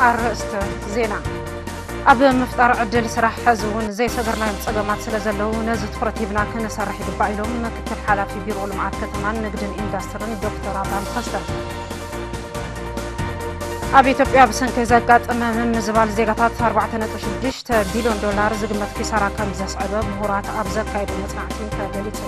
ኣርእስተ ዜና። ኣብ ምፍጣር ዕድል ስራሕ ሕዚ እውን ዘይሰገርናዮም ጸገማት ስለ ዘለዉ ነዚ ትኹረት ሂብና ክንሰርሕ ይግባእ ኢሎም ምክትል ሓላፊ ቢሮ ልምዓት ከተማን ንግድን ኢንዱስትርን ዶክተር ኣብርሃም ተኸስተ። ኣብ ኢትዮጵያ ብሰንኪ ዘጋጠመ ምምዝባል ዜጋታት ኣርባዕተ ነጥቢ ሽዱሽተ ቢልዮን ዶላር ዝግመት ኪሳራ ከም ዘስዐበ ምሁራት ኣብ ዘካየዱ መጽናዕቲ ተገሊጹ።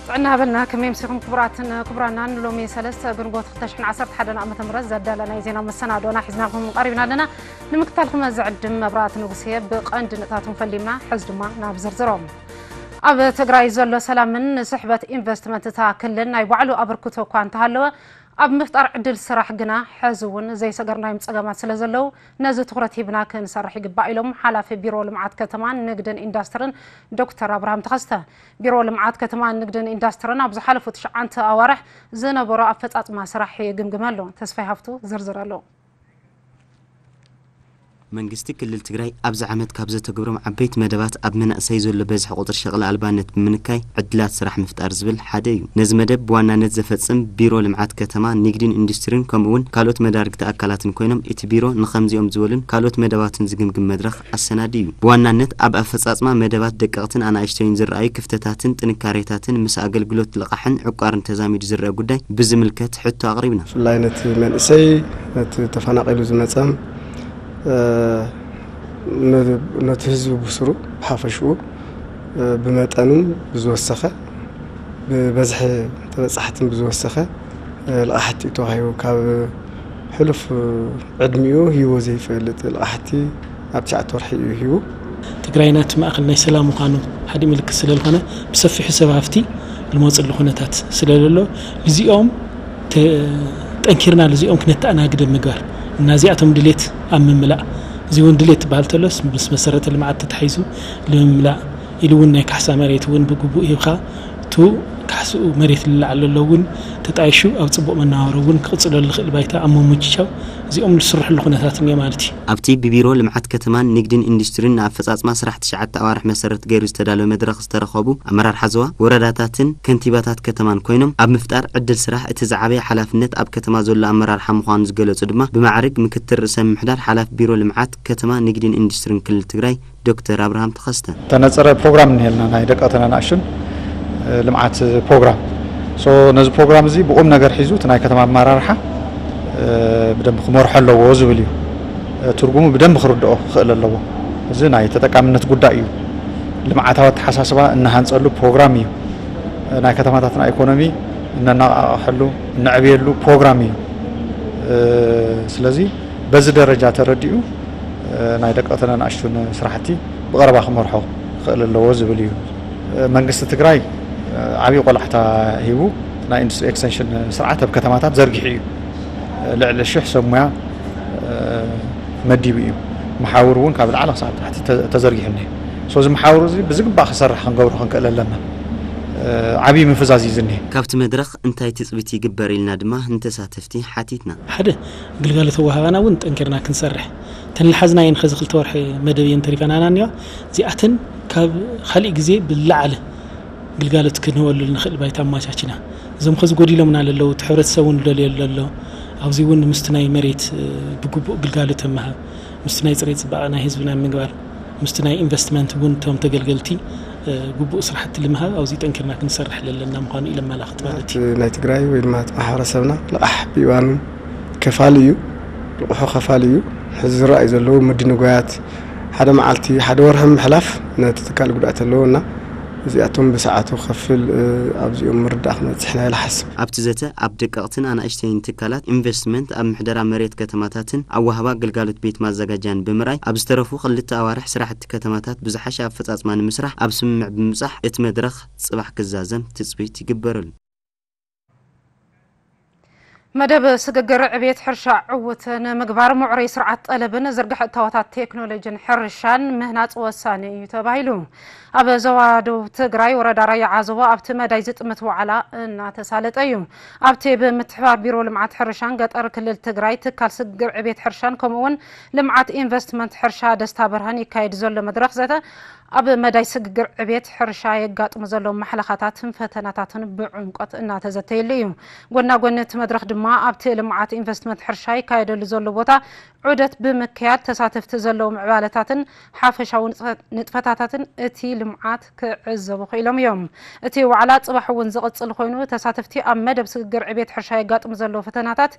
ጥዕና በልና። ከመይ ኣምሲኹም ክቡራትን ክቡራናን? ሎሚ ሰለስተ ግንቦት ክልተ ሽሕን ዓሰርተ ሓደን ዓመተ ምህረት ዘዳለናይ ዜና መሰናዶና ሒዝናልኩም ቀሪብና ኣለና። ንምክታልኩም ዝዕድም መብራእቲ ንጉሴ። ብቐንዲ ንእታቱም ፈሊምና፣ ሕዚ ድማ ናብ ዝርዝሮም። ኣብ ትግራይ ዘሎ ሰላምን ንስሕበት ኢንቨስትመንት እታ ክልል ናይ ባዕሉ ኣበርክቶ እኳ እንተሃለወ፣ ኣብ ምፍጣር ዕድል ስራሕ ግና ሕዚ እውን ዘይሰገርናዮም ጸገማት ስለ ዘለዉ ነዚ ትኹረት ሂብና ክንሰርሕ ይግባእ ኢሎም ሓላፊ ቢሮ ልምዓት ከተማን ንግድን ኢንዱስትርን ዶክተር ኣብርሃም ተኸስተ። ቢሮ ልምዓት ከተማን ንግድን ኢንዱስትርን ኣብ ዝሓለፉ ትሽዓተ ኣዋርሕ ዝነበሮ ኣፈጻጽማ ስራሕ ይግምግም ኣሎ። ተስፋይ ሃፍቱ ዝርዝር ኣሎ። መንግስቲ ክልል ትግራይ ኣብዚ ዓመት ካብ ዘተግብሮም ዓበይቲ መደባት ኣብ መናእሰይ ዘሎ በዝሒ ቁፅሪ ሸቕሊ ኣልባነት ብምንካይ ዕድላት ስራሕ ምፍጣር ዝብል ሓደ እዩ። ነዚ መደብ ብዋናነት ዘፈፅም ቢሮ ልምዓት ከተማ፣ ንግድን ኢንዱስትሪን ከምኡ እውን ካልኦት መዳርግቲ ኣካላትን ኮይኖም እቲ ቢሮ ንኸምዚኦም ዝበሉን ካልኦት መደባትን ዝግምግም መድረኽ ኣሰናዲ እዩ። ብዋናነት ኣብ ኣፈፃፅማ መደባት ደቀቕትን ኣናእሽተይን ዝረኣዩ ክፍተታትን ጥንካሬታትን ምስ ኣገልግሎት ልቓሕን ዕቋርን ተዛሚዱ ዝረአ ጉዳይ ብዝምልከት ሕቶ ኣቕሪብና። ብፍላይ ነቲ መንእሰይ፣ ነቲ ተፈናቒሉ ዝመጸም፣ እ፣ ነ-፣ ነቲ ህዝቢ ብስሩ ብሓፈሽኡ፣ እ፣ ብመጠንን ብዝወሰኸ፣ ብበዝሒ ተበጻሕትን ብዝወሰኸ፣ እ፣ ልቓሕቲ እዩ ተዋሂቡ። ካብ ሕሉፍ ዕድሚኡ ሂቦ ዘይፈልጥ ልቓሕቲ ኣብ ትሽዓተ ወርሒ እዩ ሂቡ። ትግራይ ናቲ ማእኸል ናይ ሰላም ምዃኑ ሓደ ምልክት ስለ ዝኾነ፣ ብሰፊሑ ሰብ ሃፍቲ ልመፅሉ ኩነታት ስለ ዘሎ፣ ልዚኦም ተ-፣ ጠንኪርና ልዚኦም ክነተኣናግድ ኣብ ምግባር እና እዚኣቶም ድሌት ኣብ ምምላእ፣ እዚ እውን ድሌት ትበሃል ተሎስ ምስ መሰረተ ልምዓት ተታሒዙ ልምምላእ ኢሉ እውን ናይ ካሕሳ መሬት እውን ብግቡእ ሂብካ፣ እቱ ካሕስኡ መሬት ልለዓለሎ እውን ተጣይሹ ኣብ ጽቡቕ መነባብሮ እውን ክቕጽለሉ ዝኽእል ባይታ ኣብ ምምችቻው እዚኦም ዝስርሕሉ ኩነታት እኒኦ ማለት እዩ። ኣብቲ ብቢሮ ልምዓት ከተማን ንግድን ኢንዱስትሪን ንኣፈጻጽማ ስራሕ ትሽዓተ ኣዋርሕ መሰረት ገይሩ ዝተዳለወ መድረኽ ዝተረኸቡ ኣመራርሓ ዞባ፣ ወረዳታትን ከንቲባታት ከተማን ኮይኖም ኣብ ምፍጣር ዕድል ስራሕ እቲ ዝዓበየ ሓላፍነት ኣብ ከተማ ዘሎ ኣመራርሓ ምዃኑ ዝገለጹ ድማ ብማዕርግ ምክትል ርእሰ ምምሕዳር ሓላፊ ቢሮ ልምዓት ከተማ ንግድን ኢንዱስትሪን ክልል ትግራይ ዶክተር ኣብርሃም ተኸስተ። ተነጸረ ፕሮግራም እኒሄልና፣ ናይ ደቀቕትን ኣናእሽቱን፣ እ፣ ልምዓት ፕሮግራም። ሶ፣ ነዚ ፕሮግራም እዚ ብቁም ነገር ሒዙ እቲ ናይ ከተማ ኣመራርሓ፣ እ፣ ብደንብ ክመርሖ ኣለዎ ዝብል እዩ። እ፣ ትርጉሙ ብደንብ ክርድኦ ክኽእል ኣለዎ። እዚ ናይ ተጠቃምነት ጉዳይ እዩ። ልምዓታዊ ኣተሓሳስባ እናሃንጸሉ ፕሮግራም እዩ። እ፣ ናይ ከተማታትና ኢኮኖሚ እነነቓቕሐሉ፣ እነዕብየሉ ፕሮግራም እዩ። እ፣ ስለዚ በዚ ደረጃ ተረዲኡ፣ እ፣ ናይ ደቀቕትን ኣናእሽቱን ስራሕቲ ብቐረባ ክመርሖ ክኽእል ኣለዎ ዝብል እዩ። እ፣ መንግስቲ ትግራይ፣ እ፣ ዓብዪ ቆላሕታ ሂቡ ናይ ኢንዱስትሪ ኤክስቴንሽን ስርዓት ኣብ ከተማታት ዘርጊሑ እዩ። እ፣ ልዕሊ ሽሕ ሰብ ሙያ፣ እ፣ መዲቡ እዩ። መሓውር እውን ካብ ላዕሊ ክሳብ ታሕቲ ተ-፣ ተዘርጊሑ እኒሀ። ሶ፣ እዚ መሓውር እዚ ብዝግባእ ክሰርሕ ክንገብሮ ክንክእል ኣለና። እ፣ ዓብዪ ምፍዛዝ እዩ ዝኒሀ። ካብቲ መድረኽ እንታይ ትጽቢት ይግበር ኢልና ድማ ንተሳተፍቲ ሓቲትና። ሓደ፣ ግልጋሎት ኣወሃህባና እውን ጠንኪርና ክንሰርሕ፣ እተን ልሓዝናየን ኸዚ ክልተ ወርሒ መደብ እየን ተሪፈናና እኒዋ። እዚኣተን ካብ ካሊእ ግዜ ብላዕሊ ግልጋሎት ክንህበሉ ንኽእል ባይታ ኣማቻችና። እዞም ኸዚ ጎዲሎምና ለለዉ፣ እቲ ሕብረተሰብ እውን ደልዮ ለሎ፣ ኣብዚ እውን ምስቲ ናይ መሬት፣ እ፣ ብግቡእ ግልጋሎት ምሃብ፣ ምስቲ ናይ ፅሬት ፅባቐ ናይ ህዝብና ምግባር፣ ምስቲ ናይ ኢንቨስትመንት እውን እቶም ተገልገልቲ፣ እ፣ ግቡእ ስራሕቲ ልምሃብ ኣብዚ ጠንኪርና ክንሰርሕ ለለና ምዃኑ እዩ ለመላኽት ማለት እዩ። እቲ ናይ ትግራይ ወይ ድማ እቲ ማሕበረሰብና ልቓሕ ብእዋኑ ከፋሊ እዩ፣ ልቑሑ ከፋሊ እዩ። ሕዚ ዝረኣዩ ዘለዉ ምድንጓያት፣ ሓደ መዓልቲ፣ ሓደ ወርሒ ምሕላፍ ነቲ ትካል ጉድኣት ኣለዎ እና እዚኣቶም ብሰዓቱ ክኸፍል፣ እ፣ ኣብዚኦም ምርዳእ ክመፅሕ ኢና ኢለ ሓስብ። ኣብቲ ዘተ ኣብ ደቀቕትን ኣናእሽተይን ትካላት ኢንቨስትመንት፣ ኣብ ምሕደራ መሬት ከተማታትን ኣወሃባ ግልጋሎት ቤት ማዘጋጃን ብምርኣይ ኣብ ዝተረፉ ክልተ ኣዋርሕ ስራሕቲ ከተማታት ብዝሓሸ ኣፈፃፅማ ንምስራሕ ኣብ ስምምዕ ብምብፃሕ እቲ መድረኽ ፅባሕ ክዛዘም ትፅቢት ይግበረሉ። መደብ ስግግር ዕብየት ሕርሻ ዕዉት ንምግባር ምዕሩይ ስርዓት ጠለብን ዝርግሐ እታወታት ቴክኖሎጂን ሕርሻን ምህናፅ ወሳኒ እዩ ተባሂሉ። ኣብ ዞባ ደቡብ ትግራይ ወረዳ ራያ ዓዘቦ ኣብቲ መዳይ ዝጥምት ዋዕላ እናተሳለጠ እዩ። ኣብቲ ብምትሕባር ቢሮ ልምዓት ሕርሻን ገጠር ክልል ትግራይ ትካል ስግግር ዕብየት ሕርሻን ከምኡ እውን ልምዓት ኢንቨስትመንት ሕርሻ ደስታ ብርሃን ይካየድ ዘሎ መድረኽ ዘተ ኣብ መዳይ ስግግር ዕቤት ሕርሻ የጋጥሙ ዘለዉ ማሕለኻታትን ፈተናታትን ብዕምቆት እናተዘተየሉ እዩ። ጎና ጎኒ እቲ መድረኽ ድማ ኣብቲ ልምዓት ኢንቨስትመንት ሕርሻ ይካየደሉ ዘሎ ቦታ ዑደት ብምክያድ ተሳተፍቲ ዘለዉ ምዕባለታትን ሓፈሻዊ ንጥፈታታትን እቲ ልምዓት ክዕዘቡ ክኢሎም እዮም። እቲ ዋዕላ ጽባሕ እውን ዝቕጽል ኮይኑ ተሳተፍቲ ኣብ መደብ ስግግር ዕቤት ሕርሻ የጋጥሙ ዘለዉ ፈተናታት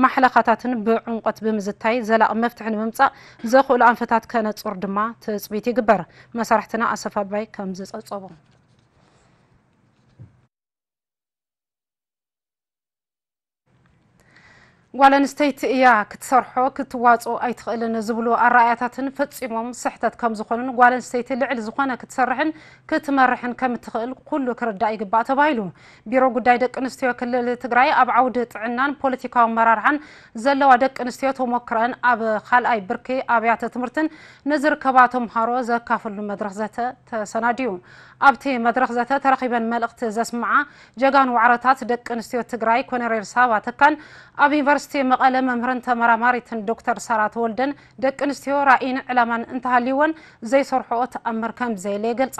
ማሕለኻታትን ብዕምቆት ብምዝታይ ዘላቒ መፍትሒ ንምምጻእ ዘኽእሉ ኣንፈታት ከነጹር ድማ ትጽቢት ይግበር። መሳርሕትና ኣሰፋ ኣባይ ከም ዝጸብጸቦ። ጓል ኣንስተይቲ እያ ክትሰርሖ ክትዋፅኦ ኣይትኽእልን ዝብሉ ኣረኣእያታትን ፈፂሞም ስሕተት ከም ዝኾኑን ጓል ኣንስተይቲ ልዕሊ ዝኾነ ክትሰርሕን ክትመርሕን ከም እትኽእል ኩሉ ክርዳእ ይግባእ ተባሂሉ። ቢሮ ጉዳይ ደቂ ኣንስትዮ ክልል ትግራይ ኣብ ዓውዲ ጥዕናን ፖለቲካዊ ኣመራርሓን ዘለዋ ደቂ ኣንስትዮ ተሞክረን ኣብ ካልኣይ ብርኪ ኣብያተ ትምህርትን ንዝርከባ ተምሃሮ ዘካፍሉ መድረኽ ዘተ ተሰናዲዩ። ኣብቲ መድረኽ ዘተ ተረኺበን መልእኽቲ ዘስምዓ ጀጋኑ ዋዕሮታት ደቂ ኣንስትዮ ትግራይ ኮነሬል ሳባ ተካን ኣብ ዩኒቨርሲቲ መቐለ መምህርን ተመራማሪትን ዶክተር ሳራ ተወልደን ደቂ ኣንስትዮ ራእይን ዕላማን እንተሃልይወን ዘይሰርሕኦ ተኣምር ከም ዘየለ ይገልጻ።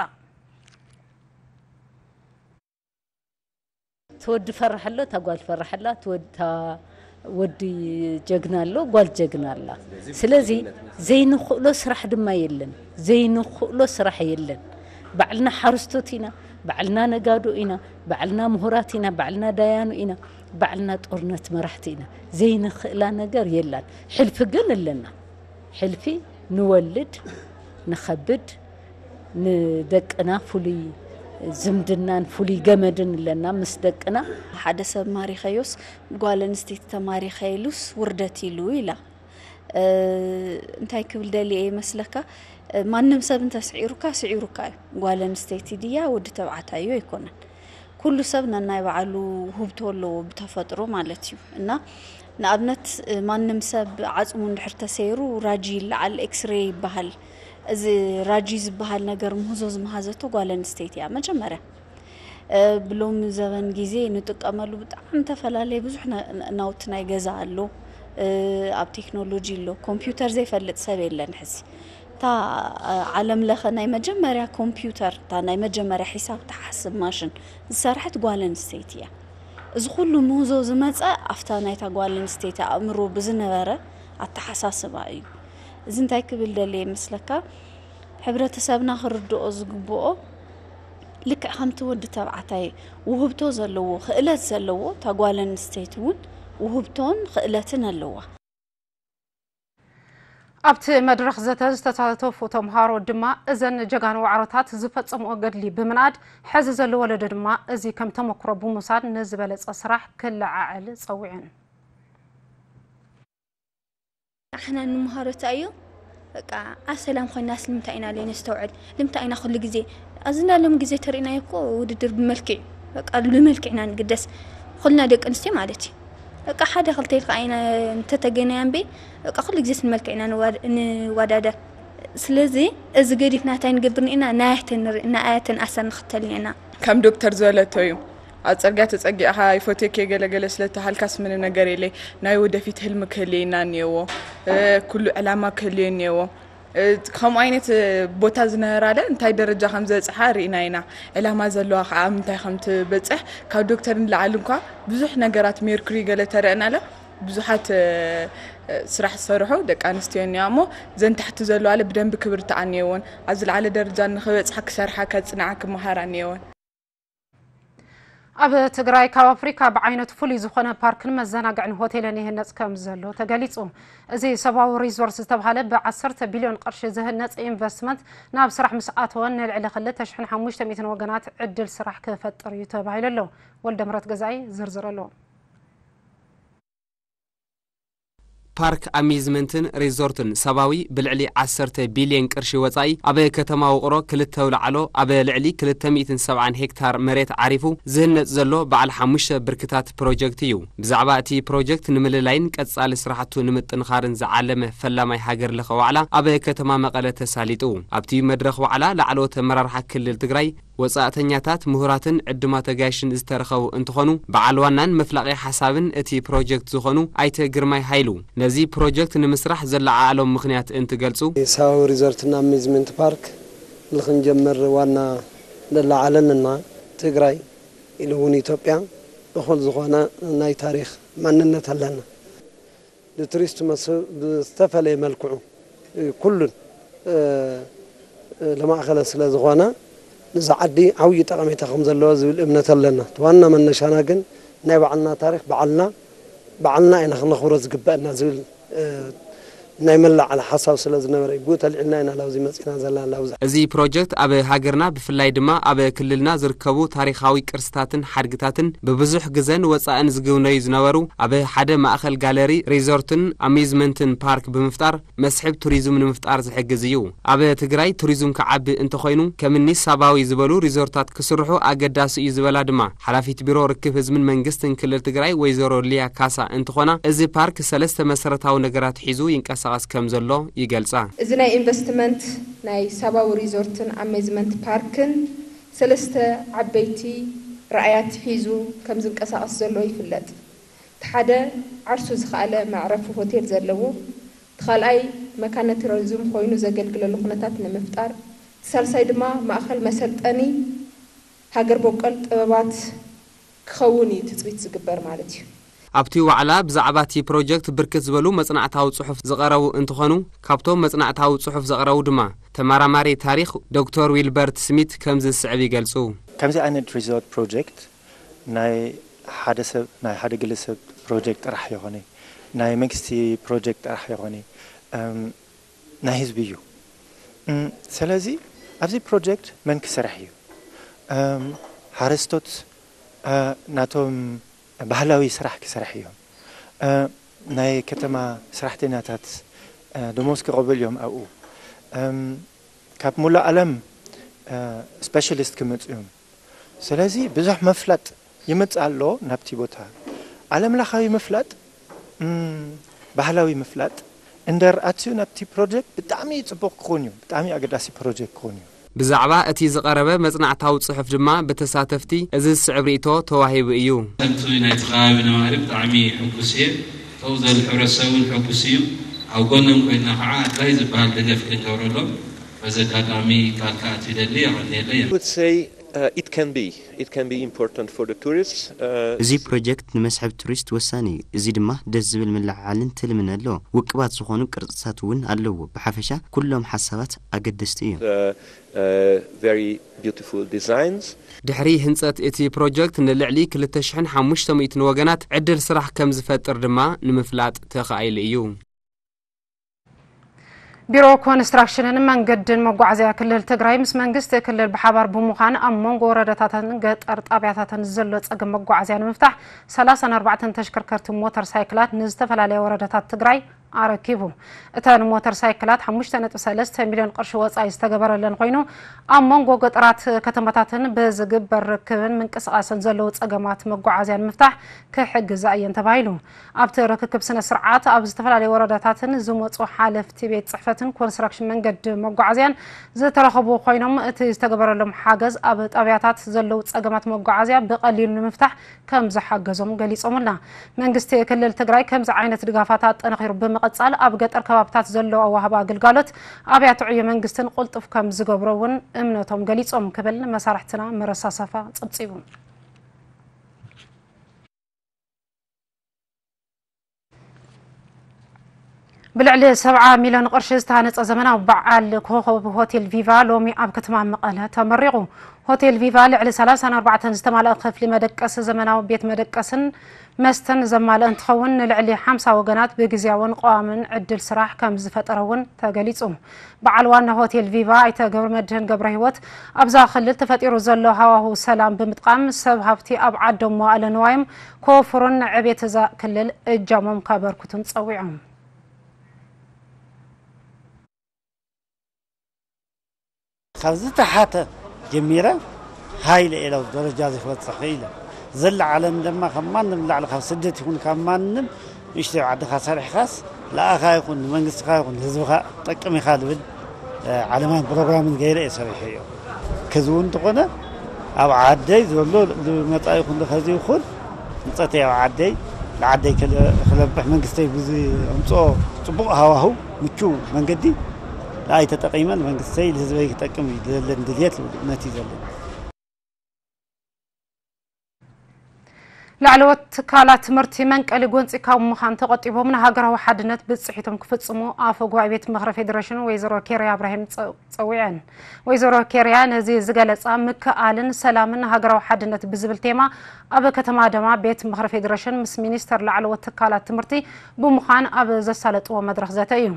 እቲ ወዲ ፈራሕ ኣሎ፣ እታ ጓል ፈራሕ ኣላ፣ እቲ ወዲ እታ ወዲ ጀግና ኣሎ፣ ጓል ጀግና ኣላ። ስለዚ ዘይንኽእሎ ስራሕ ድማ የለን። ዘይንኽእሎ ስራሕ የለን። ባዕልና ሓረስቶት ኢና፣ ባዕልና ነጋዶ ኢና፣ ባዕልና ምሁራት ኢና፣ ባዕልና ዳያኑ ኢና፣ ባዕልና ጦርነት መራሕቲ ኢና። ዘይንኽእላ ነገር የላን። ሕልፊ ግን ኣለና። ሕልፊ ንወልድ፣ ንኸብድ፣ ንደቅና ፍሉይ ዝምድናን ፍሉይ ገመድን ኣለና ምስ ደቅና። ሓደ ሰብ ማሪኸዮስ ጓል ኣንስተይቲ ተማሪኸ ኢሉስ ውርደት ኢሉ ኢላ። እንታይ ክብል ደልየ እየ መስለካ? ማንም ሰብ እንተስዒሩካ ስዒሩካ እዩ። ጓል ኣንስተይቲ ድያ ወዲ ተባዕታይ እዩ ኣይኮነን። ኩሉ ሰብ ነናይ ባዕሉ ውህብቶ ኣለዎ ብተፈጥሮ ማለት እዩ። እና ንኣብነት ማንም ሰብ ዓጽሙ እንድሕር ተሰይሩ ራጂ ይለዓል፣ ኤክስሬ ይበሃል። እዚ ራጂ ዝበሃል ነገር ምህዞ ዝመሃዘቶ ጓል ኣንስተይቲ እያ መጀመርያ። ብሎሚ ዘበን ግዜ ንጥቀመሉ ብጣዕሚ ዝተፈላለየ ብዙሕ ናውቲ ናይ ገዛ ኣሎ፣ ኣብ ቴክኖሎጂ ኣሎ። ኮምፒውተር ዘይፈልጥ ሰብ የለን ሕዚ። እታ ዓለም ለኸ ናይ መጀመርያ ኮምፒውተር፣ እታ ናይ መጀመርያ ሒሳብ ትሓስብ ማሽን ዝሰርሐት ጓል ኣንስተይቲ እያ። እዚ ኩሉ ምህዞ ዝመፀ ኣብታ ናይታ ጓል ኣንስተይቲ ኣእምሮ ብዝነበረ ኣተሓሳስባ እዩ። እዚ እንታይ ክብል ደልየ ይመስለካ? ሕብረተሰብና ክርድኦ ዝግብኦ ልክዕ ከምቲ ወዲ ተባዕታይ ውህብቶ ዘለዎ ክእለት ዘለዎ እታ ጓል ኣንስተይቲ እውን ውህብቶን ክእለትን ኣለዋ። ኣብቲ መድረኽ ዘተ ዝተሳተፉ ተምሃሮ ድማ እዘን ጀጋኑ ዋዕሮታት ዝፈጸምኦ ገድሊ ብምንኣድ ሕዚ ዘሎ ወለዶ ድማ እዚ ከም ተመክሮ ብምውሳድ ንዝበለጸ ስራሕ ክለዓዕል ጸዊዐን። ኣሕና ንምሃሮ እንታይ እዩ በቃ ኣብ ሰላም ኮይናስ ልምንታይ ኢና ለይነስተውዕል ልምንታይ ኢና ኩሉ ግዜ ኣብዚ ናይ ሎሚ ግዜ ተሪእናዮ እኮ ውድድር ብመልክዕ በቃ ብመልክዕ ኢና ንግደስ ኩልና ደቂ ኣንስትዮ ማለት እዩ በቃ ሓደ ክልተ ኢልካ ኢና እንተተገናያ እምበይ በቃ ኩሉ ግዜ ስንመልክዕ ኢና ንዋዳደር ስለዚ እዚ ገዲፍና እንታይ ንገብር ኢና ናያተን ንርኢ ናያተን ኣሰር ንኽተል ኢና ከም ዶክተር ዝበለቶ እዩ ኣብ ፅርግያ ተፀጊዕኻ ይፎቴክ የገለገለ ስለተሃልካስ ምንም ነገር የለይ ናይ ወደፊት ህልሚ ክህልየና እኒየዎ ኩሉ ዕላማ ክህልዮ እኒየዎ ከምኡ ዓይነት ቦታ ዝነበራለ እንታይ ደረጃ ከም ዝበፅሓ ርኢና ኢና ዕላማ ዘለዋ ከዓ ኣብ ምንታይ ከም ትበፅሕ ካብ ዶክተር ንላዓሊ እንኳ ብዙሕ ነገራት ሜርኩሪ ገለ ተረእናለ ብዙሓት ስራሕ ዝሰርሑ ደቂ ኣንስትዮ እኒዋ እሞ ዘን ታሕቲ ዘለዋለ ብደንቢ ክብርትዓ እኒየዎን ኣብ ዝለዓለ ደረጃ ንክበፅሓ ክሰርሓ ከፅንዓ ክመሃራ እኒየዎን። ኣብ ትግራይ ካብ ኣፍሪካ ብዓይነቱ ፍሉይ ዝኾነ ፓርክን መዘናግዕን ሆቴልን ይህነፅ ከም ዘሎ ተገሊፁ። እዚ ሰብኣዊ ሪዞርት ዝተብሃለ ብዓሰርተ ቢልዮን ቅርሺ ዝህነፅ ኢንቨስትመንት ናብ ስራሕ ምስ ኣተወ ንልዕሊ ክልተ ሽሕን ሓሙሽተ ሚእትን ወገናት ዕድል ስራሕ ክፈጥር እዩ ተባሂሉ ኣሎ። ወልደምረት ገዛኢ ዝርዝር ኣለዎ። ፓርክ ኣሚዝመንትን ሪዞርትን ሰባዊ ብልዕሊ ዓሰርተ ቢልየን ቅርሺ ወፃኢ ኣብ ከተማ ውቕሮ ክልተ ኣውላዕሎ ኣብ ልዕሊ ክልተ ሚእትን ሰብዓን ሄክታር መሬት ዓሪፉ ዝህነፅ ዘሎ በዓል ሓሙሽተ ብርክታት ፕሮጀክት እዩ። ብዛዕባ እቲ ፕሮጀክት ንምልላይን ቀፃሊ ስራሕቱ ንምጥንኻርን ዝዓለመ ፈላማይ ሃገር ለኸ ዋዕላ ኣብ ከተማ መቐለ ተሳሊጡ። ኣብቲ መድረኽ ዋዕላ ላዕለዎት ኣመራርሓ ክልል ትግራይ፣ ወፃእተኛታት፣ ምሁራትን ዕዱማት ኣጋይሽን ዝተረኸቡ እንትኾኑ፣ በዓል ዋናን መፍላቒ ሓሳብን እቲ ፕሮጀክት ዝኾኑ ኣይተ ግርማይ ሃይሉ፣ ነዚ ፕሮጀክት ንምስራሕ ዘለዓዓሎም ምኽንያት እንትገልፁ፣ ሳው ሪዞርትና ኣሚዝመንት ፓርክ ንክንጀምር ዋና ለላዓለንና ትግራይ ኢሉ እውን ኢትዮጵያ እኹል ዝኾነ ናይ ታሪኽ ማንነት ኣለና። ንቱሪስት መስህብ ብዝተፈለየ መልክዑ ኩሉን ለማእኸለ ስለ ዝኾነ ንዛ ዓዲ ዓብዪ ጠቐሜታ ከም ዘለዎ ዝብል እምነት ኣለና። እቲ ዋና መነሻና ግን ናይ ባዕልና ታሪኽ ባዕልና ባዕልና ኢና ክነኽብሮ ዝግበአና ዝብል ናይ መላዓል ሓሳብ ስለ ዝነበረ እዩ። ብኡ ተልዒልና ኢና ላብዚ መፂና ዘለና ላብዚ። እዚ ፕሮጀክት ኣብ ሃገርና ብፍላይ ድማ ኣብ ክልልና ዝርከቡ ታሪኻዊ ቅርስታትን ሓድግታትን ብብዙሕ ግዘን ወፃእን ዝግብነዩ ዝነበሩ ኣብ ሓደ ማእኸል ጋለሪ፣ ሪዞርትን ኣሚዝመንትን ፓርክ ብምፍጣር መስሕብ ቱሪዝም ንምፍጣር ዝሕግዝ እዩ። ኣብ ትግራይ ቱሪዝም ክዓቢ እንተኾይኑ ከምኒ ሳባዊ ዝበሉ ሪዞርታት ክስርሑ ኣገዳሲ እዩ ዝበላ ድማ ሓላፊት ቢሮ ርክብ ህዝብን መንግስትን ክልል ትግራይ ወይዘሮ ሊያ ካሳ እንትኾና፣ እዚ ፓርክ ሰለስተ መሰረታዊ ነገራት ሒዙ ይንቀሳቐስ ከም ዘሎ ይገልጻ። እዚ ናይ ኢንቨስትመንት ናይ ሳባዊ ሪዞርትን ኣሜዝመንት ፓርክን ሰለስተ ዓበይቲ ራእያት ሒዙ ከም ዝንቀሳቐስ ዘሎ ይፍለጥ። እቲ ሓደ ዓርሱ ዝኸኣለ መዕረፊ ሆቴል ዘለዎ፣ እቲ ካልኣይ መካነ ቱሪዝም ኮይኑ ዘገልግለሉ ኩነታት ንምፍጣር፣ እቲ ሳልሳይ ድማ ማእኸል መሰልጠኒ ሃገር በቆል ጥበባት ክኸውን እዩ ትፅቢት ዝግበር ማለት እዩ። ኣብቲ ዋዕላ ብዛዕባ እቲ ፕሮጀክት ብርክት ዝበሉ መጽናዕታዊ ጽሑፍ ዝቐረቡ እንትኾኑ፣ ካብቶም መጽናዕታዊ ጽሑፍ ዘቕረቡ ድማ ተመራማሪ ታሪኽ ዶክተር ዊልበርት ስሚት ከምዚ ዝስዕብ ይገልጹ። ከምዚ ዓይነት ሪዞርት ፕሮጀክት ናይ ሓደ ሰብ፣ ናይ ሓደ ግለሰብ ፕሮጀክት ጥራሕ ይኾነ፣ ናይ መንግስቲ ፕሮጀክት ጥራሕ ይኾነ፣ እም፣ ናይ ህዝቢ እዩ። እም፣ ስለዚ ኣብዚ ፕሮጀክት መን ክሰርሕ እዩ? እም፣ ሓረስቶት፣ እ፣ ናቶም ባህላዊ ስራሕ ክሰርሕ እዮም። እ፣ ናይ ከተማ ሰራሕተኛታት፣ እ፣ ደሞዝ ክቐበሉ እዮም ኣብኡ። እም፣ ካብ ሙሉእ ዓለም፣ እ፣ ስፔሻሊስት ክመፁ እዮም። ስለዚ ብዙሕ ምፍላጥ ይመጽእ ኣሎ ናብቲ ቦታ። ዓለም ለኻዊ ምፍላጥ፣ እም፣ ባህላዊ ምፍላጥ እንደር ኣትዩ ናብቲ ፕሮጀክት ብጣዕሚ ጽቡቕ ክኾን እዩ፣ ብጣዕሚ ኣገዳሲ ፕሮጀክት ክኾን እዩ። ብዛዕባ እቲ ዝቐረበ መጽናዕታዊ ጽሑፍ ድማ ብተሳተፍቲ እዚ ዝስዕብ ርእይቶ ተዋሂቡ እዩ። ከምቲ ናይቲ ከባቢ ነባሪ ብጣዕሚ ሕጉስ እየ። እቶም ዘሉ ሕብረተሰብ እውን ሕጉስ እዩ። ኣብ ጎኖም ኮይንና ከዓ ኣድላይ ዝበሃል ደገፍ ክንገብረሎም በዚ ኣጋጣሚ ቃል ክኣቱ ይደሊ። የቐንየለይ። I would say, uh, it can be, it can be important for the tourists. Uh, እዚ ፕሮጀክት ንመስሕብ ቱሪስት ወሳኒ እዩ። እዚ ድማ ደስ ዝብል ምልዕዓልን ትልምን ኣለዎ። ውቅባት ዝኾኑ ቅርጽታት እውን ኣለዎ። ብሓፈሻ ኩሎም ሓሳባት ኣገደስቲ እዮም። Uh, uh, very beautiful designs. ድሕሪ ህንጸት እቲ ፕሮጀክት ንልዕሊ ክልተ ሽሕን ሓሙሽተ ሚእትን ወገናት ዕድል ስራሕ ከም ዝፈጥር ድማ ንምፍላጥ ተኻኢሉ እዩ። ቢሮ ኮንስትራክሽንን መንገድን መጓዓዝያ ክልል ትግራይ ምስ መንግስቲ ክልል ብሓባር ብምዃን ኣብ መንጎ ወረዳታትን ገጠር ጣብያታትን ዘሎ ጸገም መጓዓዝያ ንምፍታሕ ሰላሳን ኣርባዕተን ተሽከርከርቲ ሞተር ሳይክላት ንዝተፈላለየ ወረዳታት ትግራይ ኣረኪቡ። እተን ሞተር ሳይክላት ሓሙሽተ ነጥቢ ሰለስተ ሚልዮን ቅርሺ ወጻኢ ዝተገበረለን ኮይኑ ኣብ መንጎ ገጠራት ከተማታትን ብዝግበር ርክብን ምንቅስቃስን ዘለዉ ጸገማት መጓዓዝያ ንምፍታሕ ክሕግዛ እየን ተባሂሉ። ኣብቲ ርክክብ ስነ ስርዓት ኣብ ዝተፈላለዩ ወረዳታትን ዝመፁ ሓለፍቲ ቤት ፅሕፈትን ኮንስትራክሽን መንገዲ መጓዓዝያን ዝተረኸቡ ኮይኖም እቲ ዝተገበረሎም ሓገዝ ኣብ ጣብያታት ዘለዉ ፀገማት መጓዓዝያ ብቐሊሉ ንምፍታሕ ከም ዝሓገዞም ገሊፆምልና። መንግስቲ ክልል ትግራይ ከምዚ ዓይነት ድጋፋት ኣጠናኺሩ ብምቕፃል ኣብ ገጠር ከባብታት ዘለዉ ኣዋህባ ግልጋሎት ኣብያተ ዕዮ መንግስትን ቁልጡፍ ከም ዝገብሮ እውን እምነቶም ገሊፆም ክብል መሳርሕትና መረሳሰፋ ፀብፂቡ። ብልዕሊ ሰብዓ ሚልዮን ቅርሺ ዝተሃነፀ ዘመናዊ በዓል ኮኸብ ሆቴል ቪቫ ሎሚ ኣብ ከተማ መቐለ ተመሪቑ። ሆቴል ቪቫ ልዕሊ ሰላሳን ኣርባዕተን ዝተማልአ ክፍሊ መደቀሲ፣ ዘመናዊ ቤት መደቀስን መስተን ዘማልአ እንትኸውን፣ ንልዕሊ ሓምሳ ወገናት ብግዝያውን ቀዋምን ዕድል ስራሕ ከም ዝፈጠረ እውን ተገሊፁ። በዓል ዋና ሆቴል ቪቫ ኣይተ ገብረመድህን ገብረሂወት፣ ኣብዛ ክልል ተፈጢሩ ዘሎ ሃዋህው ሰላም ብምጥቃም፣ ሰብ ሃብቲ ኣብ ዓዶም መዋእለ ንዋዮም ከወፍሩን ንዕቤት እዛ ክልል እጃሞም ከበርክቱን ጸዊዖም። ካብ ዝተሓተ ጀሚረ ሃይለ ኢለ ኣብዚ ደረጃ እዚ ክበፅሕ ክኢለ። ዘለዓለም ድማ ካብ ማንም ንላዕሊ ካብ ስደት ይኹን ካብ ማንም ንእሽተይ ዓድኻ ሰሪሕኻስ ለኣኻ ይኹን ንመንግስትኻ ይኹን ንህዝብኻ ጠቅም ኢኻ ዝብል፣ እ፣ ዓለማን ፕሮግራምን ገይረ እየ ሰሪሐዮ። ከዚ እውን እንተኾነ ኣብ ዓደይ ዘሎ ንመጻኢ ይኹን ንኸዚ ይኹን ህንጸተይ ኣብ ዓደይ ንዓደይ ክለ-፣ ክለብሕ መንግስተይ ብዝምጽኦ ጽቡቕ ሃዋህው ምቹው መንገዲ ኣይተጠቒመን መንግስተይ ንህዝበይ ክጠቅም እዩ ዘለኒ ድልየት እምነት እዩ ዘለኒ። ላዕለዎት ትካላት ትምህርቲ መንቀሊ ጎንፂ ካብ ምዃን ተቆጢቦም ንሃገራዊ ሓድነት ብፅሒቶም ክፍፅሙ ኣፈ ጉባኤ ቤት ምኽሪ ፌዴሬሽን ወይዘሮ ኬርያ እብራሂም ፀ- ፀዊዐን። ወይዘሮ ኬርያ ነዚ ዝገለፃ ምክእኣልን ሰላምን ሃገራዊ ሓድነት ብዝብል ቴማ ኣብ ከተማ ኣዳማ ቤት ምኽሪ ፌዴሬሽን ምስ ሚኒስተር ላዕለዎት ትካላት ትምህርቲ ብምዃን ኣብ ዘሳለጥዎ መድረኽ ዘተ እዩ።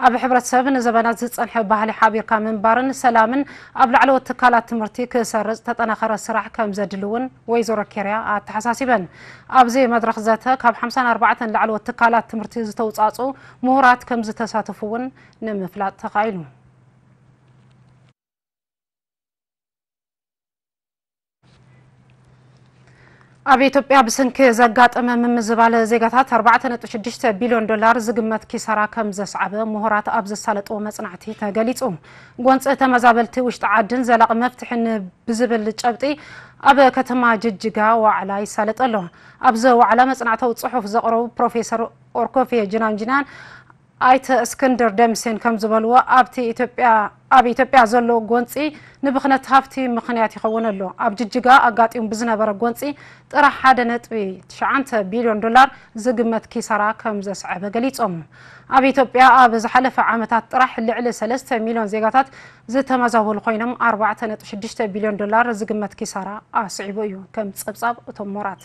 ኣብ ሕብረተሰብ ንዘበናት ዝጸንሐ ባህሊ ሓቢርካ ምንባርን ሰላምን ኣብ ላዕለዎት ትካላት ትምህርቲ ክሰርጽ ተጠናኸረ ስራሕ ከም ዘድሊ እውን ወይዘሮ ኬርያ ኣተሓሳሲበን። ኣብዚ መድረኽ ዘተ ካብ ሓምሳን ኣርባዕተን ላዕለዎት ትካላት ትምህርቲ ዝተውጻጹ ምሁራት ከም ዝተሳተፉ እውን ንምፍላጥ ተኻኢሉ። ኣብ ኢትዮጵያ ብሰንኪ ዘጋጠመ ምምዝባል ዜጋታት ኣርባዕተ ነጥቢ ሽዱሽተ ቢልዮን ዶላር ዝግመት ኪሳራ ከም ዘስዓበ ምሁራት ኣብ ዘሳለጥዎ መጽናዕቲ ተገሊጹ። ጎንፂ ተመዛበልቲ ውሽጢ ዓድን ዘላቒ መፍትሒ ብዝብል ጨብጢ ኣብ ከተማ ጅጅጋ ዋዕላ ይሳለጥ ኣሎ። ኣብዚ ዋዕላ መጽናዕታዊ ጽሑፍ ዘቕረቡ ፕሮፌሰር ኦርኮፌ ጅናንጅናን ኣይተ እስክንድር ደምሴን ከም ዝበልዎ ኣብቲ ኢትዮጵያ ኣብ ኢትዮጵያ ዘሎ ጎንፂ ንብኽነት ሃፍቲ ምኽንያት ይኸውን ኣሎ። ኣብ ጅጅጋ ኣጋጢሙ ብዝነበረ ጎንፂ ጥራሕ ሓደ ነጥቢ ትሽዓተ ቢልዮን ዶላር ዝግመት ኪሳራ ከም ዘስዐበ ገሊጾም። ኣብ ኢትዮጵያ ኣብ ዝሓለፈ ዓመታት ጥራሕ ልዕሊ ሰለስተ ሚልዮን ዜጋታት ዝተመዛበሉ ኮይኖም ኣርባዕተ ነጥቢ ሽዱሽተ ቢልዮን ዶላር ዝግመት ኪሳራ ኣስዒቡ እዩ ከም ጸብጻብ እቶም ምሁራት።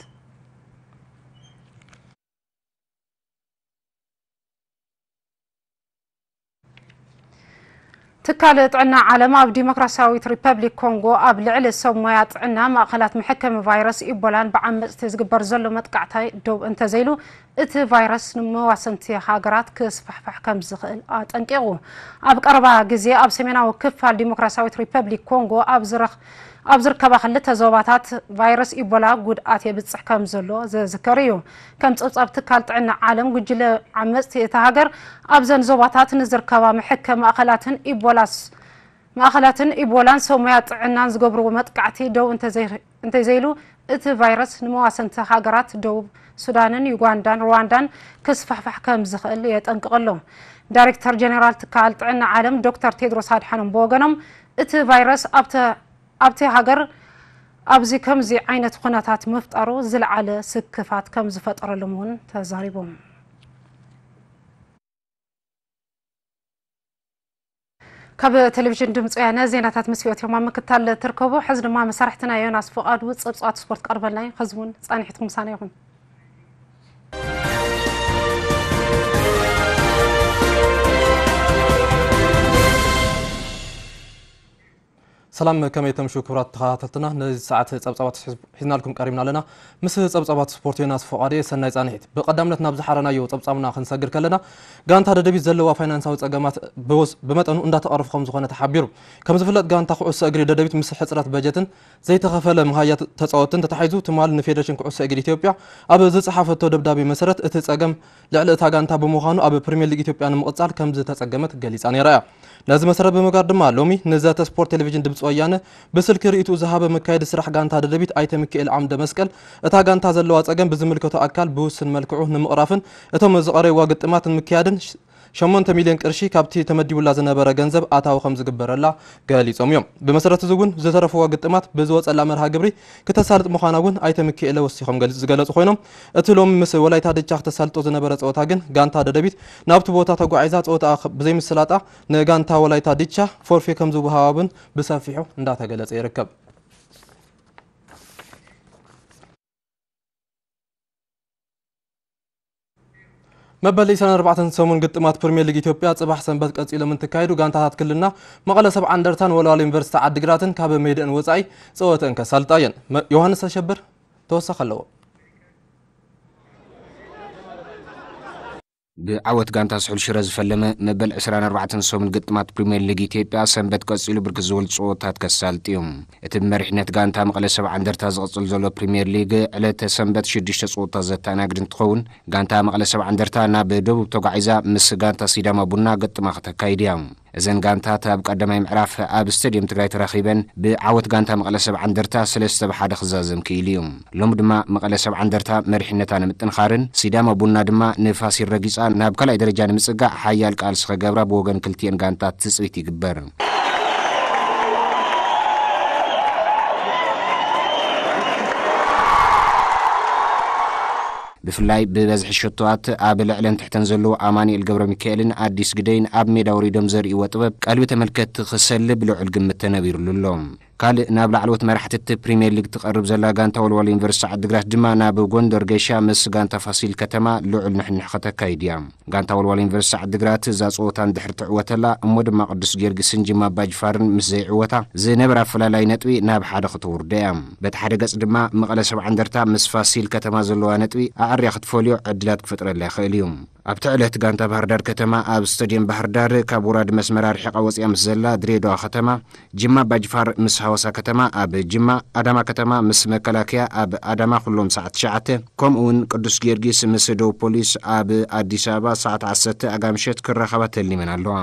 ትካል ጥዕና ዓለም ኣብ ዲሞክራሲያዊት ሪፐብሊክ ኮንጎ ኣብ ልዕሊ ሰብ ሞያ ጥዕና ማእኸላት መሐከሚ ቫይረስ ኢቦላን ብዓመፅቲ ዝግበር ዘሎ መጥቃዕቲ ደው እንተዘይሉ እቲ ቫይረስ ንመዋሰንቲ ሃገራት ክስፋሕፋሕ ከም ዝኽእል ኣጠንቂቑ። ኣብ ቀረባ ግዜ ኣብ ሰሜናዊ ክፋል ዲሞክራሲያዊት ሪፐብሊክ ኮንጎ ኣብ ዝረኽ ኣብ ዝርከባ ክልተ ዞባታት ቫይረስ ኢቦላ ጉድኣት የብፅሕ ከም ዘሎ ዝዝከር እዩ። ከም ፀብፃብ ትካል ጥዕና ዓለም ጉጅለ ዓመፅቲ እታ ሃገር ኣብዘን ዞባታት ንዝርከባ መሐከ ማእኸላትን ኢቦላስ ማእኸላትን ኢቦላን ሰብ ሞያ ጥዕናን ዝገብርዎ መጥቃዕቲ ደው እንተዘይ- እንተዘይሉ እቲ ቫይረስ ንመዋሰንቲ ሃገራት ደቡብ ሱዳንን ዩጋንዳን ሩዋንዳን ክስፋሕፋሕ ከም ዝኽእል የጠንቅቕ ኣሎ። ዳይሬክተር ጀነራል ትካል ጥዕና ዓለም ዶክተር ቴድሮስ ኣድሓኖም ብወገኖም እቲ ቫይረስ ኣብተ ኣብቲ ሃገር ኣብዚ ከምዚ ዓይነት ኩነታት ምፍጣሩ ዝለዓለ ስክፋት ከም ዝፈጠረሎም እውን ተዛሪቦም። ካብ ቴሌቪዥን ድምፂ ወያነ ዜናታት ምስ ፊዮት ዮማ ምክታል ትርከቡ። ሕዚ ድማ መሳርሕትና ዮናስ ፍቓዱ ፀብፃባት ስፖርት ቀርበልና እዩ። ሕዚ እውን ፃኒሕትኩም ምሳና ይኹን። ሰላም፣ ከመይ ተምሹ ክቡራት ተኸታተልትና? ነዚ ሰዓት ጸብጻባት ሒዝ- ሒዝናልኩም ቀሪብና ኣለና። ምስ ጸብጻባት ስፖርት ዮናስ ፍቓድየ፣ ሰናይ ጻንሒት። ብቐዳምነት ናብ ዝሓረናዮ ጸብጻብና ክንሰግር ከለና፣ ጋንታ ደደቢት ዘለዋ ፋይናንሳዊ ጸገማት ብወስ- ብመጠኑ እንዳተቐረፉ ከም ዝኾነ ተሓቢሩ። ከም ዝፍለጥ፣ ጋንታ ኩዕሶ እግሪ ደደቢት ምስ ሕጽረት በጀትን ዘይተኸፈለ መሃያ ተጻወትን ተታሒዙ፣ ትማል ንፌደሬሽን ኩዕሶ እግሪ ኢትዮጵያ ኣብ ዝጸሓፈቶ ደብዳቤ መሰረት፣ እቲ ጸገም ልዕሊ እታ ጋንታ ብምዃኑ፣ ኣብ ፕሪምየር ሊግ ኢትዮጵያ ንምቕጻል ከም ዝተጸገመት ገሊጻ ነይራ እያ። ነዚ መሰረት ብምግባር ድማ፣ ሎሚ ንዘተ ስፖርት ቴሌቪዥን ድምፂ ወያነ ብስልኪ ርእይትኡ ዝሃበ መካየዲ ስራሕ ጋንታ ደደቢት ኣይተ ሚካኤል ዓምደ መስቀል፣ እታ ጋንታ ዘለዋ ጸገም ብዝምልከቶ ኣካል ብውስን መልክዑ ንምቕራፍን እቶም ዝቐረብዋ ግጥማት ንምክያድን ሸሞንተ ሚልዮን ቅርሺ ካብቲ ተመዲቡላ ዝነበረ ገንዘብ ኣታዊ ከም ዝግበረላ ገሊጾም እዮም። ብመሰረት እዚ እውን ዝተረፍዎ ግጥማት ብዝወጸላ መርሃ ግብሪ ክተሳልጥ ምዃና እውን ኣይተ ሚካኤለ ወሲኾም ገሊጽ- ዝገለጹ ኮይኖም፣ እቲ ሎሚ ምስ ወላይታ ድቻ ክተሳልጦ ዝነበረ ጸወታ ግን ጋንታ ደደቢት ናብቲ ቦታ ተጓዒዛ ጸወታኣ ኸ- ብዘይምስላጣ ንጋንታ ወላይታ ድቻ ፎርፌ ከም ዝወሃባ እውን ብሰፊሑ እንዳተገለጸ ይርከብ። መበል ዕስራን ኣርባዕተን ሰሙን ግጥማት ፕሪምየር ሊግ ኢትዮጵያ ጽባሕ ሰንበት ቀጺሎም እንትካየዱ፣ ጋንታታት ክልልና መቐለ ሰብዓ እንደርታን ወልዋሎ ዩኒቨርሲቲ ዓዲግራትን ካብ ሜድአን ወጻኢ ጸወተአን ከሳልጣ እየን። መ- ዮሃንስ ኣሸብር ተወሳኺ ኣለዎ። ብዓወት ጋንታ ስሑል ሽረ ዝፈለመ መበል ዕስራን ኣርባዕተን ሰሙን ግጥማት ፕሪምየር ሊግ ኢትዮጵያ ሰንበት ቀጺሉ ብርክት ዝበሉ ጸወታት ከሳልጥ እዩ። እቲ ብመሪሕነት ጋንታ መቐለ ሰብዓ እንደርታ ዝቕጽል ዘሎ ፕሪምየር ሊግ ዕለተ ሰንበት ሽዱሽተ ጸወታ ዘተኣናግድ እንትኸውን፣ ጋንታ መቐለ ሰብዓ እንደርታ ናብ ደቡብ ተጓዒዛ ምስ ጋንታ ሲዳማ ቡና ግጥማ ከተካይድ እያ። እዘን ጋንታት ኣብ ቀዳማይ ምዕራፍ ኣብ ስቴድየም ትግራይ ተራኺበን ብዓወት ጋንታ መቐለ ሰብዓ እንደርታ ሰለስተ ብ ሓደ ክዛዘም ክኢሉ እዩ። ሎሚ ድማ መቐለ ሰብዓ እንደርታ መሪሕነታ ንምጥንኻርን ሲዳማ ቡና ድማ ንፋሲል ረጊጻ ናብ ካልኣይ ደረጃ ንምጽጋዕ ሓያል ቃልሲ ክገብራ ብወገን ክልቲኤን ጋንታት ትጽቢት ይግበር። ብፍላይ ብበዝሒ ሸቶኣት ኣብ ልዕለን ትሕተን ዘለዉ ኣማኑኤል ገብረ ሚካኤልን ኣዲስ ግደይን ኣብ ሜዳ ወሪዶም ዘርእይዎ ጥበብ ቀልቢ ተመልከትቲ ክሰልብ ልዑል ግምት ተነቢሩሉ ኣሎ። ካልእ ናብ ላዕለዎት መራሕቲ እቲ ፕሪምየር ሊግ ትቐርብ ዘላ ጋንታ ወልዋሎ ዩኒቨርሲቲ ዓዲግራት ድማ ናብ ጎንደር ገይሻ ምስ ጋንታ ፋሲል ከተማ ልዑል ንሕንሕ ከተካይድ እያ። ጋንታ ወልዋሎ ዩኒቨርሲቲ ዓዲግራት እዛ ጸወታ እንድሕር ትዕወተላ እሞ ድማ ቅዱስ ጊዮርጊስን ጅማ ኣባጅፋርን ምስ ዘይዕወታ ዝነበረ ኣፈላላይ ነጥቢ ናብ ሓደ ክትውርዶ እያ። በቲ ሓደ ገጽ ድማ መቐለ ሰብዓ እንደርታ ምስ ፋሲል ከተማ ዘለዋ ነጥቢ ኣዕርያ ክትፈልዮ ዕድላት ክፈጥረላ ይኽእል እዩ። ኣብቲ ዕለት ጋንታ ባህርዳር ከተማ ኣብ ስታድየም ባህርዳር ካብ ወራዲ መስመር ኣርሒቓ ወፂኣ ምስ ዘላ ድሬዳዋ ከተማ፣ ጅማ ኣባጅፋር ምስ ሃዋሳ ከተማ ኣብ ጅማ፣ ኣዳማ ከተማ ምስ መከላከያ ኣብ ኣዳማ ኩሎም ሰዓት ትሽዓተ፣ ከምኡ እውን ቅዱስ ጊዮርጊስ ምስ ደቡብ ፖሊስ ኣብ ኣዲስ ኣበባ ሰዓት ዓሰርተ ኣጋምሸት ክራኸባ ተሊመን ኣለዋ።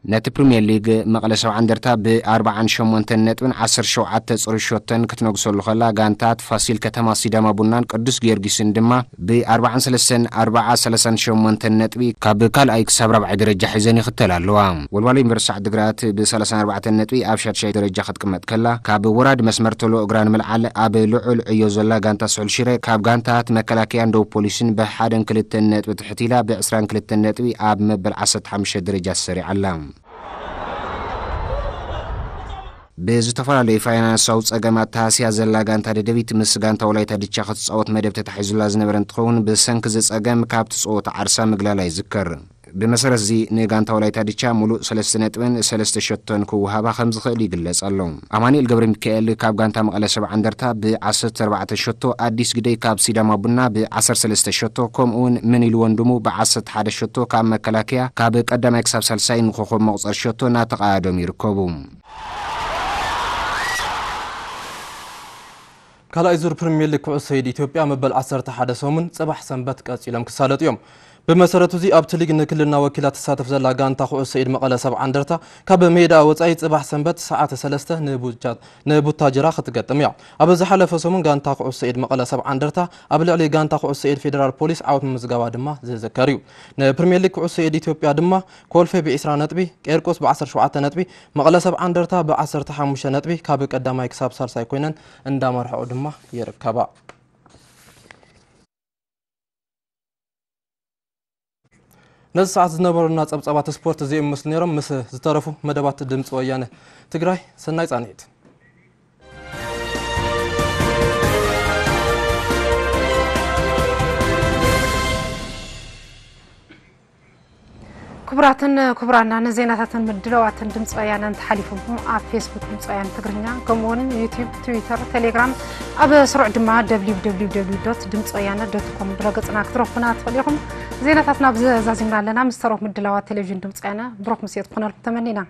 ነቲ ፕሪምየር ሊግ መቐለ ሰብዓ እንደርታ ብ ኣርብዓን ሸሞንተን ነጥብን ዓሰርተ ሸውዓተ ጽሩይ ሸቶን ክትነግሰሉ ከላ፣ ጋንታት ፋሲል ከተማ፣ ሲዳማ ቡናን ቅዱስ ጊዮርጊስን ድማ ብ ኣርብዓን ሰለስተን ኣርብዓ ሰላሳን ሸሞንተን ነጥቢ ካብ ካልኣይ ክሳብ ራብዓይ ደረጃ ሒዘን ይኽተላ ኣለዋ። ወልዋሎ ዩኒቨርሲቲ ዓዲግራት ብ ሰላሳን ኣርባዕተን ነጥቢ ኣብ ሻድሻይ ደረጃ ክትቅመጥ ከላ፣ ካብ ወራዲ መስመር ቶሎ እግራ ንምልዓል ኣብ ልዑል ዕዮ ዘላ ጋንታ ስሑል ሽረ ካብ ጋንታት መከላከያን ደቡብ ፖሊስን ብሓደን ክልተን ነጥቢ ትሕት ኢላ ብ ዕስራን ክልተን ነጥቢ ኣብ መበል ዓሰርተ ሓሙሽተ ደረጃ ተሰሪዓ ኣላ። ብዝተፈላለዩ ፋይናንሳዊ ጸገማት ተሃስያ ዘላ ጋንታ ደደቢት ምስ ጋንታ ወላይታ ድቻ ክትጻወት መደብ ተታሒዙላ ዝነበረ እንትኸውን፣ ብሰንኪ እዚ ጸገም ካብቲ ጸወታ ዓርሳ ምግላላ ይዝከር። ብመሰረት እዚ ንጋንታ ወላይታ ድቻ ሙሉእ ሰለስተ ነጥብን ሰለስተ ሸቶን ክወሃባ ከም ዝኽእል ይግለጽ ኣሎ። ኣማኑኤል ገብረ ሚካኤል ካብ ጋንታ መቐለ ሰብዓ እንደርታ ብ ዓሰርተ ኣርባዕተ ሸቶ፣ ኣዲስ ግደይ ካብ ሲዳማ ቡና ብ ዓሰርተ ሰለስተ ሸቶ፣ ከምኡውን ምን ኢሉ ወንድሙ ብ ዓሰርተ ሓደ ሸቶ ካብ መከላከያ ካብ ቀዳማይ ክሳብ ሳልሳይ ንኮኾብ መቑጸር ሸቶ እናተቐያደሙ ይርከቡ። ካልኣይ ዙር ፕሪምየር ሊግ ኩዕሶ ኢድ ኢትዮጵያ መበል ዓሰርተ ሓደ ሰሙን ጽባሕ ሰንበት ቀጺሎም ክሳለጡ እዮም። ብመሰረቱ እዚ ኣብቲ ሊግ ንክልልና ወኪላ ትሳተፍ ዘላ ጋንታ ኩዕሶ ኢድ መቐለ ሰብዓ እንደርታ ካብ ሜዳ ወጻኢ ጽባሕ ሰንበት ሰዓት ሰለስተ ንቡጃ-፣ ንቡታጅራ ክትገጥም እያ። ኣብ ዝሓለፈ ሰሙን ጋንታ ኩዕሶ ኢድ መቐለ ሰብዓ እንደርታ ኣብ ልዕሊ ጋንታ ኩዕሶ ኢድ ፌዴራል ፖሊስ ዓወት ምምዝጋባ ድማ ዝዝከር እዩ። ንፕሪምየር ሊግ ኩዕሶ ኢድ ኢትዮጵያ ድማ ኮልፌ ብ ዕስራ ነጥቢ፣ ቄርቆስ ብ ዓሰርተ ሸውዓተ ነጥቢ፣ መቐለ ሰብዓ እንደርታ ብ ዓሰርተ ሓሙሽተ ነጥቢ ካብ ቀዳማይ ክሳብ ሳልሳይ ኮይነን እንዳመርሐኦ ድማ ይርከባ። ነዚ ሰዓት ዝነበሩና ጸብጻባት ስፖርት እዚኦም ይመስሉ ነይሮም። ምስ ዝተረፉ መደባት ድምፂ ወያነ ትግራይ፣ ሰናይ ጻንሒት። ክቡራትን ክቡራና፣ ንዜናታትን ምድላዋትን ድምፂ ወያነ እንተሓሊፉኩም ኣብ ፌስቡክ ድምፂ ወያነ ትግርኛ፣ ከምኡ እውን ዩቲዩብ፣ ትዊተር፣ ቴሌግራም፣ ኣብ ስሩዕ ድማ www.dimtsiweyane.com ድረገፅና ክትረኽቡና ትኽእሉ ኢኹም። ዜናታትና ኣብዚ ዛዚምና ኣለና። ምስ ተረፉ ምድላዋት ቴሌቪዥን ድምፂ ወያነ ብሩኽ ምሴት ክኾነልኩም ተመኒና።